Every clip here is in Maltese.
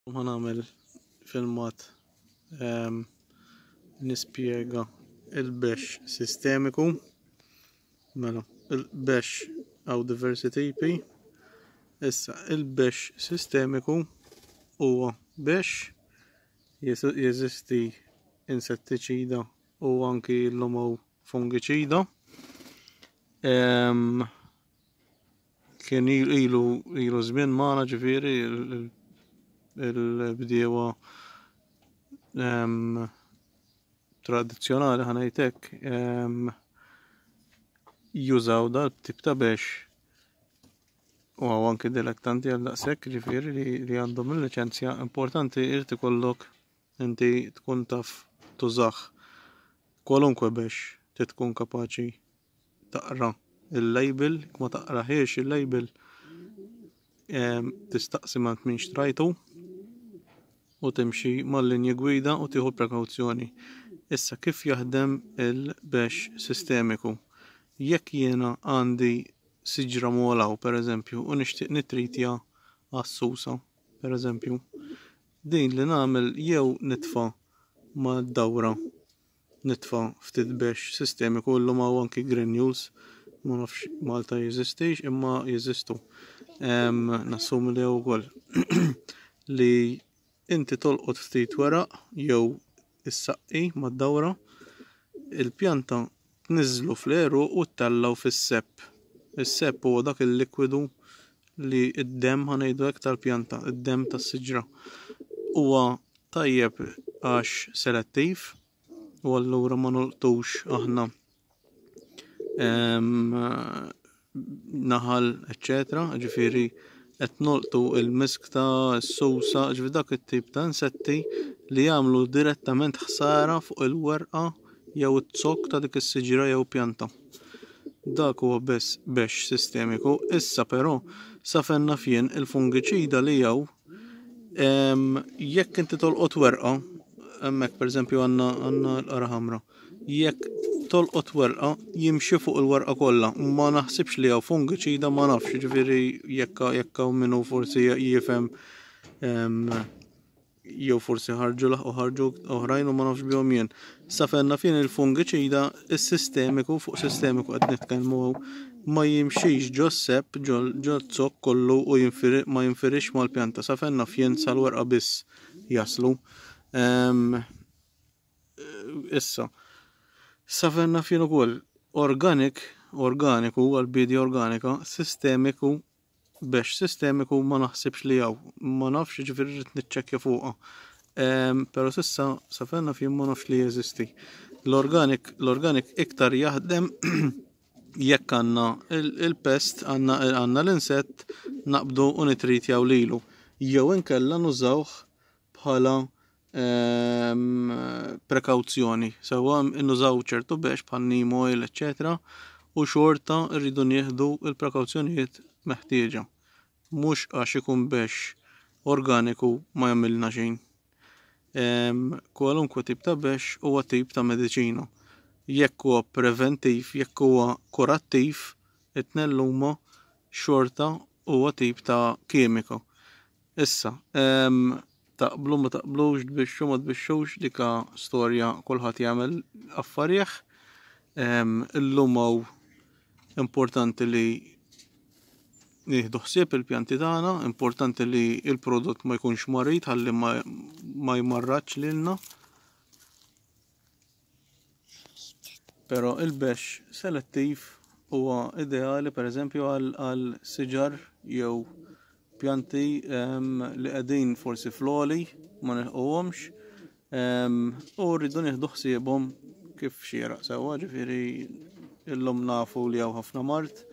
Ħa nagħmel filmat ehm, nispjega il-bex sistemiku. Mela, il-bex għaw diversi tipi. Issa, il-bex sistemiku huwa bex jeżisti insettiċida u anki l-lum fungiċida. Ehm, Kien ilu ilu żmien magħna ġifieri il-bdiewa ehm, tradizzjonali ħanejt hekk ehm, jużaw dal tip ta' bex u għaw anki dilettanti għal daqshekk ġifieri li għandhom il-liċenzja importanti irid ikollok inti tkun taf tużah kwalunkwe bex trid tkun kapaċi taqra il-label, jekk ma taqrahiex il-label tistaqsi ma min xtrajtu u timxi mal-linji gwida u tieħu prekawzjoni. Issa kif jaħdem il-bex sistemiku? Jekk jiena għandi siġra molaw per eżempju u nixtieq nitritja għas-susa per eżempju, din li nagħmel jew nitfa' mad-dawra nitfa' ftit bexx sistemiku illum hawn anki granules ma nafx Malta jeżistix imma jeżistu. Nassumi li wkoll li inti tolqot ftit weraq jew issaqqi mad-dawra il-pjanta tniżżlu fl-għeruq u ttellgħu fis-sepp. Is-sepp huwa dak il-likwidu li d-demm ħa ngħidu hekk tal-pjanta, id-demm tas-siġra. Huwa tajjeb għax selettiv u allura ma nolqtux aħna naħal, eċċetera, ġifieri qed nolqtu il-miskta, s-susa, ġifieri dak it-tip ta' insetti li jagħmlu direttament ħsara fuq il-werqa jew iz-zokk ta' dik is-siġra jew pjanta. Dak huwa biss bexx sistemiku. Issa però sa fejn naf jien il-fungiċida li hawn jekk inti tolqot werqa, hemmhekk pereżempju għandna għandna l-qara ħamra. Jekk tolqot werqa jimxi fuq il-werqa kollha. Ma naħsibx li hawn fungiċida ma nafx, ġifieri jekk jekk hawn min hu forsi jifhem jew forsi ħarġu laħqu ħarġu oħrajn u ma nafx bihom jien. Sa fejn naf jien il-fungiċida is-sistemiku fuq sistemiku qed nitkellmu ma jimxix ġo sepp ġo zokk kollu u ma jinfirix mal-pjanta. Sa fejn naf jien sal-werqa biss jaslu. Ehm, issa, sa fejn naf jien ukoll organic, organiku għal-bidja organika, sistemiku Bexx sistemiku ma naħsibx li hawn. Ma nafx, jiġifieri rrid niċċekkja fuqha. Ehm, però s'issa sa fejn naf jien ma nafx li jeżisti. L-organic, l-organic iktar jaħdem jekk għandna il-pest, għandna l-insett naqbdu u nitritjaw lilu. Jew inkella nużawh bħala ehm, prekawzjoni. Sewwa nużaw ċertu bex bħal neem oil, eċċetera, u xorta rridu nieħdu l-prekawzjonijiet meħtieġa. Mhux għax ikun bex organiku ma jagħmilna xejn. Ehm, kwalunkwe tip ta' bex huwa tip ta' mediċina. Jekk huwa preventiv, jekk huwa kurattiv, it-tnejn huma xorta huwa tip ta' kimika. Issa, taqblu ma taqblux, tbixxu ma tbixxux, dika storja kulħadd jagħmel affarih. Illum hawn importanti li nieħdu ħsieb il-pjanti tagħna, importanti li l-prodott ma jkunx marid ħalli ma jmarradx lilna. Però il-bexx selettiv huwa ideali pereżempju għal siġar jew pjanti ehm, li qegħdin forsi fl-għoli ma nilħquhomx ehm, u rridu nieħdu ħsiebhom kif xieraq sewwa, ġifieri illum nafu li hawn ħafna mard,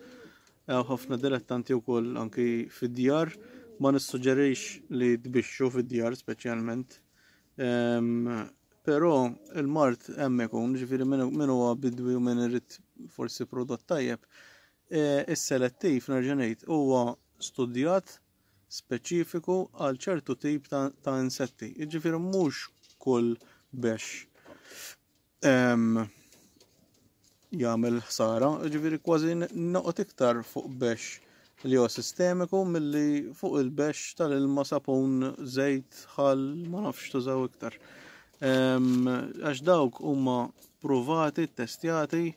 hawn ħafna dilettanti wkoll anki fid-djar, ma nissuġġerix li tbixxu fid-djar speċjalment. Ehm, Però il-mard hemm ikun, ġifieri min huwa bidwi u min irid forsi prodott tajjeb, e, is-selettiv nerġa' ngħid huwa studjat speċifiku għal ċertu tip ta', ta insetti. Jiġifieri mhux kull bex jagħmel ħsara, ġifieri kważi noqgħod iktar fuq bex li huwa sistemiku milli fuq il-bexx tal-ilma sapun, żejt, ħall, ma nafx tużaw iktar. Għax dawk huma pruvati, testjati,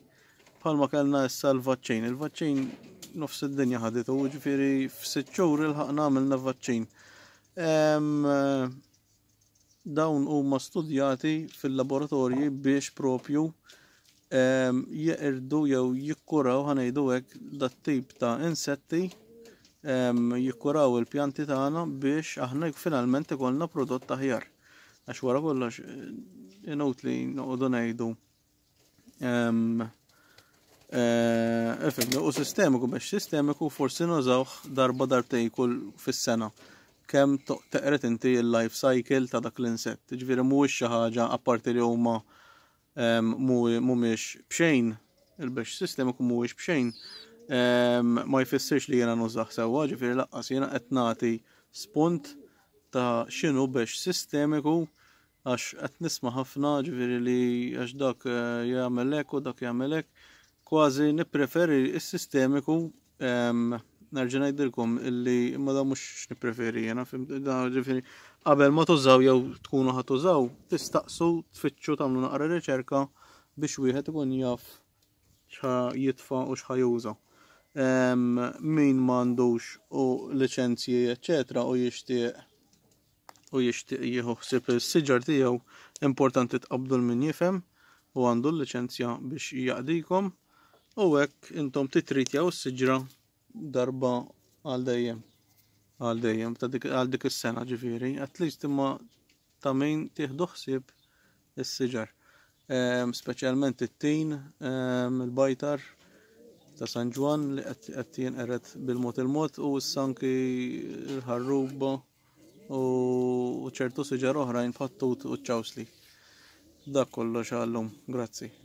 bħalma kellna issa l-vaċċin. Il-vaċċin nofs id-dinja ħaditu, ġifieri f'sitt xhur ilħaqna għamilna vaċċin. Dawn huma studjati fil-laboratorji biex propju jeqirdu jew jikkuraw ħa ngħidu hekk dat-tip ta' insetti jikkuraw il-pjanti tagħna biex aħna finalment ikollna prodott aħjar. Għax wara kollox inutli noqogħdu ngħidu Eh, ifhem, u sistemiku biex sistemiku forsi nużawh darba darbtejn kull fis-sena. Kemm teqret inti il-life cycle ta' dak l-insett. Ġifieri mhuwiex xi ħaġa apparti li huma mhumiex b'xejn, il-biex sistemiku mhuwiex b'xejn, ma jfissirx li jiena nużah sewwa, ġifieri laqqas jiena qed nagħti spunt ta' x'inhu biex sistemiku Għax qed nisma' ħafna ġifieri li għax dak eh, jagħmel hekk u dak jagħmel hekk. Kważi nippreferi s-sistemiku ehm, nerġa' ngħidilkom illi imma da mhux nippreferi jiena da ġifieri qabel ma tużaw jew tkunu ħa tużaw tistaqsu tfittxu tagħmlu naqra riċerka biex wieħed ikun jaf x'ħa jitfa' u x'ħa juża. Ehm, min m'għandux u liċenzji eċċetera u jixtieq u jixtieq jieħu ħsieb is-siġar tiegħu, importanti tqabbdu 'l min jifhem u għandu l-liċenzja biex jaqdikom u hekk intom titritjaw is-siġra darba għal dejjem. Għal dejjem ta' dik għal dik is-sena ġifieri, at least imma ta' min tieħdu ħsieb is-siġar. Ehm, speċjalment it-tin, ehm, il-bajtar ta' San Ġwann li qed jinqered bil-mod il-mod u issa anki l-ħarruba u ċertu siġar oħrajn bħat-tut u ċ-ċawsli. Dak kollox għallum. Grazzi.